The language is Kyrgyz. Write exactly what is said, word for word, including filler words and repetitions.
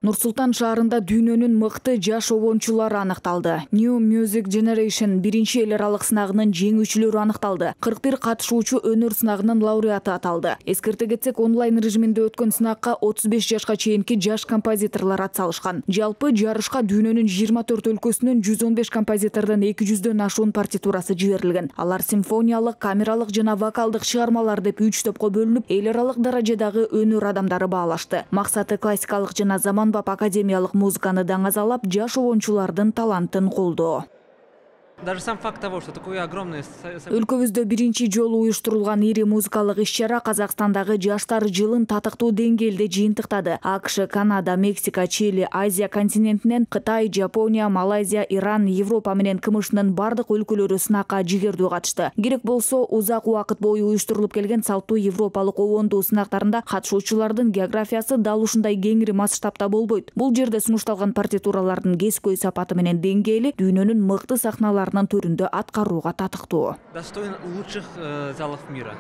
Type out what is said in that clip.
Нур-Султан шаарында дүйнөнүн мыкты жаш обончулары аныкталды. New Music Generation биринчи эл аралык сынагынын жеңүүчүлөрү аныкталды. кырк бир катышуучу өнөр сынагынын лауреаты аталды. Эскерте кетсек, онлайн режиминде өткөн сынакка отуз беш жашка чейинки жаш композиторлор атсалышкан. Жалпы жарышка дүйнөнүн жыйырма төрт өлкөсүнөн жүз он беш композитордун эки жүздөн ашуун партитурасы жиберилген. Алар симфониялык, камералык жана вокалдык чыгармалар деп үч топко бөлүнүп, эл аралык даражадагы өнөр адамдары баалашты. Максаты классикалык жана заманбап академиялык музыканы даңазалап, жаш обончулардын талантын колдоо. Даже сам факт того, что такое огромное... Өлкөбүздө биринчи жолу уюштурулган ири музыкалык иш-чара Казакстандагы жаштар жылын татыктуу деңгээлде жыйынтыктады. АКШ, Канада, Мексика, Чили, Азия континентинен Кытай, Жапония, Малайзия, Иран, Европа менен КМШнын бардык өлкөлөрү сынакка жигердүү катышты. Керек болсо, узак убакыт бою уюштурулуп келген салттуу европалык обондуу сынактарында катышуучулардын географиясы дал ушундай кеңири масштабта болбойт. Бул жерде сунушталган партитуралардын кескөй сапаты менен деңгээли дүйнөнүн мыкты сахналары төрүндө аткарууга татыктуу. Достоин лучших залов мира.